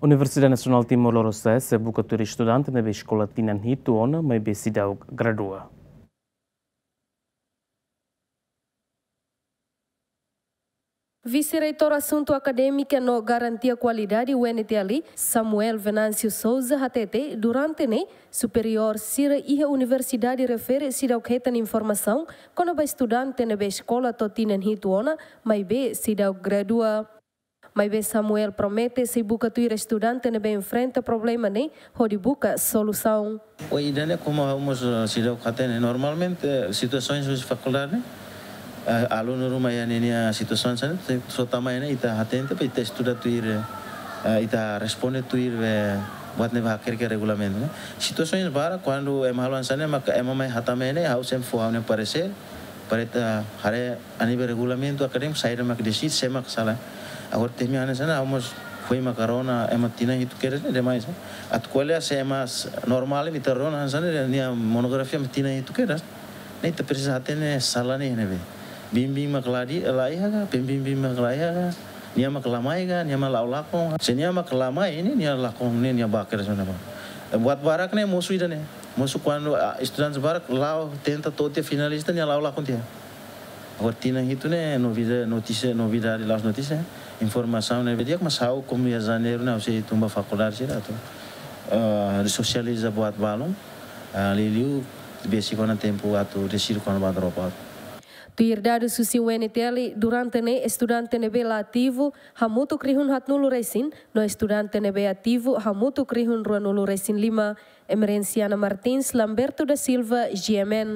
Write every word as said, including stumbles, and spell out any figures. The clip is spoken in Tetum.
Universidade Nasionál Timor Loroeste sei buka tuir estudante ne'ebé eskola tinan hitu ona maibé seidauk gradua. Vise-Reitór Asuntu Akadémika no Garantia Kualidade, U N T L, Samuel Venâncio Sousa hatete, durante ne'e, superiór sira iha universidade refere seidauk hetan informasaun kona-ba estudante ne'ebé eskola to'o tinan hitu ona, maibé seidauk gradua. Maibé Samuel promete sei buka tuir estudante ne'ebé enfrenta problema ne'e hodi buka solusaun. Oi, ida-ne'e komu ha'u mós, eh, seidauk hatene. Normalmente, eh, situasaun husi fakuldade ne'e, eh, alunu ruma iha ninia situasaun hanesan ne'e, só tama iha ne'e ita hatene, depois ita estuda tuir, eh, ita responde tuir, eh, buat ne'ebé hakerek iha regulamentu ne'e. Situasaun barak, kuandu ema halo hanesan ne'e, maka ema mai hatama iha ne'e, ha'u sempre fó ha'u-nia paresér, para ita haree a nível regulamentu akadémiku, saida mak deside, sé mak sala. Agora, temi hanesan ne'e, ha'u mós foin maka rona ema tinan hitu kedas ne'e demais, eh. Atu ko'alia se ema s-, normál imi ita rona hanesan ne'e, nia monografia mak tinan hitu kedas. Ne'e ita presiza hatene sala ne'e ne'ebé. Biin-biin mak la di-, la iha ka, pembimbing mak la iha ka, nia mak la mai ka, nia mak la'o lakon. Se nia mak la mai ne'e, nia lakon ne'e, nia ba kedas ona ba. Buat barak ne'e mosu ida-ne'e. Mosu kuandu, ah, estudantes barak la'o tenta to'o tiha finalista, nia la'o lakon tiha. Agora tinan hitu ne'e novida-, notísia, novidade, la'ós notísia, informasaun ne'ebé di'ak, mas ha'u komu iha Janeiru ne'e ha'u sei tun ba fakuldade sira atu, eh, sosializa buat balun, eh, liuliu besik ona tempu atu deside kona-ba dropout. Tuir dadus husi U N T L, durante ne'e estudante ne'ebé la ativu hamutuk rihun haatnulu resin, no estudante ne'ebé ativu hamutuk rihun ruanulu resin lima. Emerenciana Martins, Lamberto da Silva, G M N.